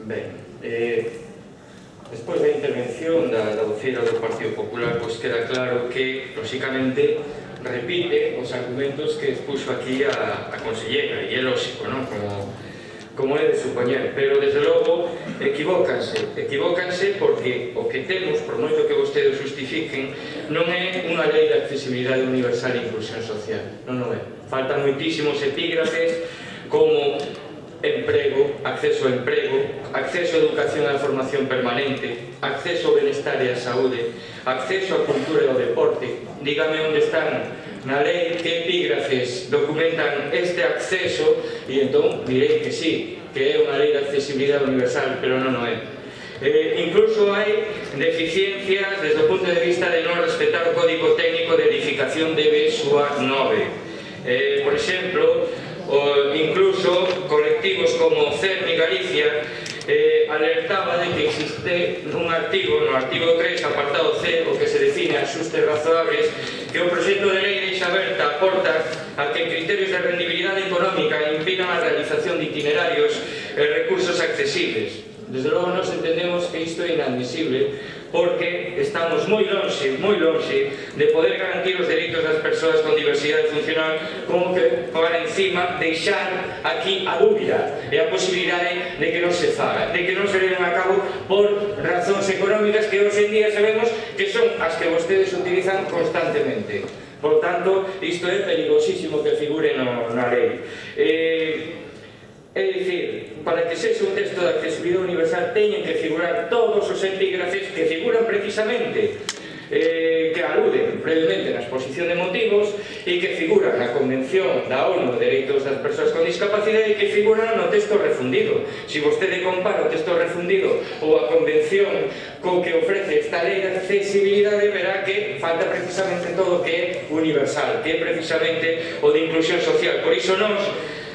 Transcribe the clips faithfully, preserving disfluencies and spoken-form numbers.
Ben, eh, despois da intervención da, da voceira do Partido Popular, pois queda claro que, lóxicamente, repite os argumentos que expuxo aquí a, a conselleira, e é lóxico, non? Como, como é de supoñer, pero desde logo equivócanse, equivócanse porque o que temos, por moito que vostedes justifiquen, non é unha lei de accesibilidade universal e inclusión social, non non é. Faltan moitísimos epígrafes como emprego, acceso ao emprego, acceso á educación e á formación permanente, acceso ao benestar e á saúde, acceso á cultura e ao deporte. Dígame onde están na lei que epígrafes documentan este acceso e entón direi que sí, que é unha lei de accesibilidade universal, pero non o é. Eh, incluso hai deficiencias desde o punto de vista de non respetar o Código Técnico de Edificación de B S U A nove. Eh, por exemplo, o, incluso colectivos como CERMI Galicia eh, alertaba de que existe un artigo, no artigo tres, apartado C, o que se define axustes razoables, que o proxecto de lei deixa aberta a porta a que criterios de rendibilidade económica impidan a realización de itinerarios e recursos accesibles. Desde logo nos entendemos que isto é inadmisible porque estamos moi lonxe, moi lonxe de poder garantir os dereitos das persoas con diversidade funcional, como que para encima deixar aquí a dúbida e a posibilidade de que non se faga, de que non se leven a cabo por razóns económicas que hoxe en día sabemos que son as que vostedes utilizan constantemente. Por tanto, isto é perigosísimo que figure no, na lei. Eh, É dicir, para que sexa un texto de accesibilidade universal teñen que figurar todos os epígrafes que figuran precisamente, eh, que aluden brevemente na exposición de motivos e que figuran na Convención da ONU de Dereitos das Persoas con Discapacidade e que figuran no texto refundido. Se vostede compara o texto refundido ou a Convención co que ofrece esta lei de accesibilidade, verá que falta precisamente todo o que é universal, que é precisamente o de inclusión social. Por iso nós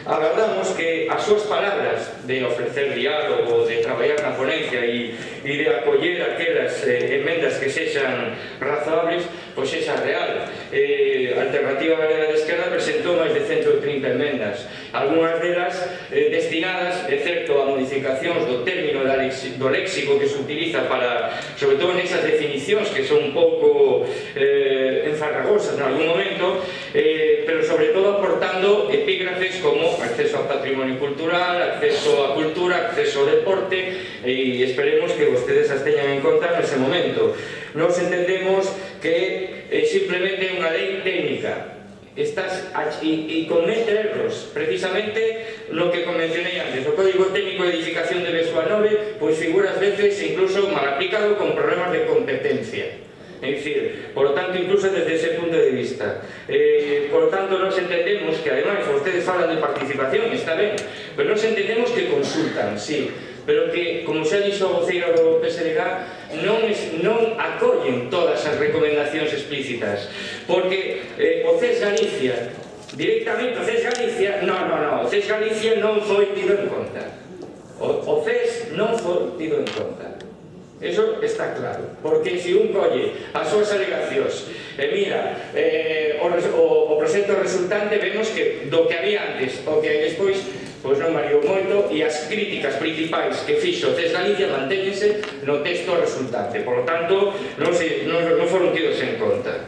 agardamos que as súas palabras de ofrecer diálogo, de traballar na ponencia e, e de acoller aquelas eh, enmendas que sexan razoables, pois sexa real. Eh, a Alternativa Galega de Esquerda presentou máis de ciento trinta enmendas, algunhas delas eh, destinadas, excepto a modificacións do término do léxico que se utiliza para, sobre todo nesas definicións que son un pouco eh, enfarragosas en algún momento, eh, pero sobre todo aportando epígrafes como acceso ao patrimonio cultural, acceso á cultura, acceso ao deporte, e esperemos que vostedes as teñan en conta nese momento. Nos entendemos que é simplemente unha lei técnica, estás e comete erros precisamente no que convencionei antes. O Código Técnico de Edificación de B S U A nove pois figura ás veces incluso mal aplicado con problemas de competencia. É dicir, por lo tanto, incluso desde ese punto de vista. Eh, por lo tanto, nos entendemos que, ademais, vostedes falan de participación, está ben, pero nos entendemos que consultan, sí, pero que, como xa dixo a voceira do P S D G, non, es, non acollen todas as recomendacións explícitas, porque eh, o C E S Galicia, directamente o C E S Galicia, non, non, non, o C E S Galicia non foi tido en conta. O, o C E S non foi tido en conta. Eso está claro, porque se un colle as súas alegacións e mira eh, o, o, o proxecto resultante, vemos que do que había antes o que despois pois non variou moito, e as críticas principais que fixo o C E S Galicia mantéñense no texto resultante, por lo tanto non, se, non, non foron tidos en conta.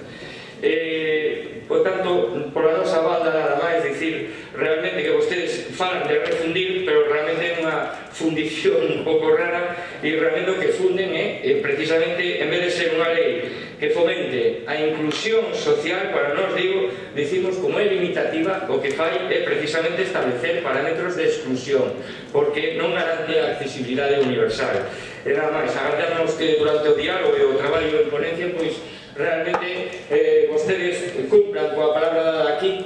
Eh, por tanto, por a nosa banda nada máis dicir realmente que vostedes falan de refundir, pero realmente é unha fundición un pouco rara, e realmente o que funden é eh, precisamente, en vez de ser unha lei que fomente a inclusión social, para nós digo, dicimos como é limitativa, o que fai é precisamente establecer parámetros de exclusión, porque non garante a accesibilidade universal. E nada máis, agardamos que durante o diálogo e o traballo en ponencia, pois realmente eh, vostedes cumplan coa palabra dada aquí,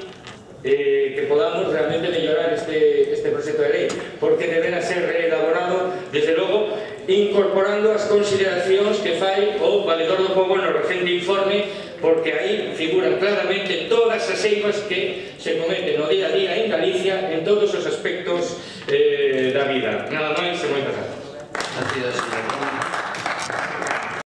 eh, que podamos realmente mellorar este, este proxecto de lei, porque deberá ser reelaborado, desde logo, incorporando as consideracións que fai o Valedor do Pobo no recente informe, porque aí figuran claramente todas as eivas que se cometen no día a día en Galicia en todos os aspectos eh, da vida. Nada máis e moitas grazas. Gracias, señor.